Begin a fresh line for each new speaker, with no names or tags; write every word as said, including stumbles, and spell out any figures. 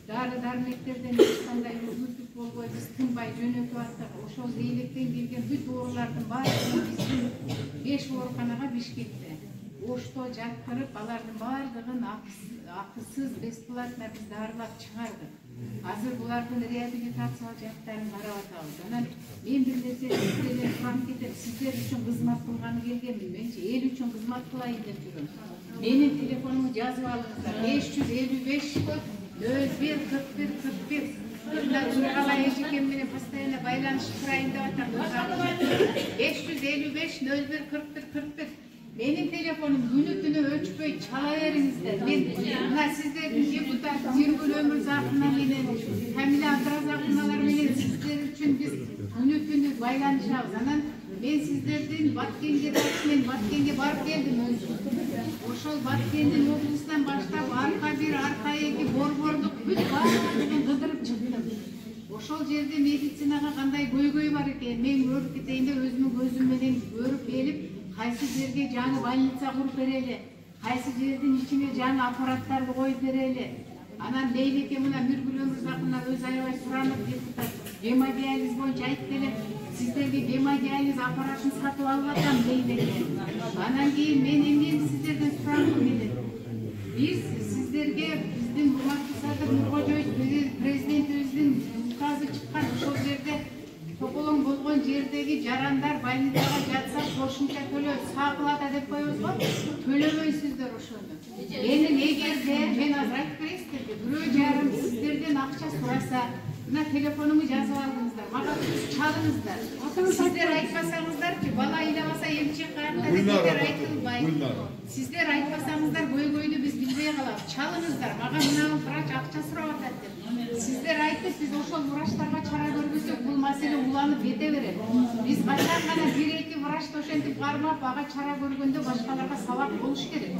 дары дармектерден эч кандай үзүлтүк болбой биз тынбай жөнөтүп аттык. Ошол зейлектен келген бүт оорулардын баарын биздин беш ооруканага Бишкекте Ошто жаткырып, алардын баардыгын акысыз, бесплатно биз дарылап чыгардык. Азыр булардын реабилитациялык жактарын карап атабыз. Анан мен бир нерсе сиздерден сурап кетем. Сиздер үчүн кызмат кылганы келгенмин. Менчи эл үчүн кызмат кылайын деп жүрөм. Менин телефонумду жазып алыңыздар. беш жүз элүү беш нөл бир кырк бир кырк бир. Мына Тургала эжекем менен постоянно байланышып турайын деп атам. беш жүз элүү беш нөл бир кырк бир кырк бир. Менин телефонум күнү түнү өчпөй чала бериңиздер. Мен мына сиздердин депутат Нургүл Өмүрзакына менен Камила Абдыразаковналар менен сиздер үчүн биз күнү түнү байланышабыз. Анан мен сиздердин Баткенге мен Баткенге барып келдим өзүм. Ошол Баткендин облусунан баштап арка бир, арка эки, борбордук бүт баардыгын кыдырып чыктым. Ошол жерде медицинага кандай көйгөй бар экен, мен көрүп кетейин деп өзүмдүн көзүм менен көрүп келип, кайсы жерге жаңы больница куруп берели, кайсы жердин ичине жаңы аппараттарды коюп берели. Анан Лейлеке мына Нургүл Өмүрзакына өзү аябай суранып депутат гемодиализ боюнча айтып келем, сиздерге гемодиализ аппаратын сатып алып атам Лейлеке. Анан кийин мен эмне сиздерден сурагым келет. Биз сиздерге биздин урматтуу Садыр Нуркожоевич президентибиздин указы чыккан, ошол жерде тополоң болгон жердеги жарандар больницага жатса кошумча төлөө сагылата деп коебузго, төлөбөйсүздөр ошону. Менин эгерде мен азыр айтып берейин сиздерге, бирөө жарым сиздерден акча сураса, мына телефонумду жазып алыңыздар, мага чалыңыздар. Сиздер айтпасаңыздарчы, бала ыйлабаса эмчек каякта деп сиздер айтылбайт. Сиздер айтпасаңыздар көйгөйдү биз билбей калабыз. Чалыңыздар, мага мына врач акча сурап атат деп. Сиздер айтып, биз ошол врачтарга чара көргөзсөк, бул маселе уланып кете берет. Биз качан гана бир эки врачты ошентип кармап, ага чара көргөндө башкаларга сабак болуш керек.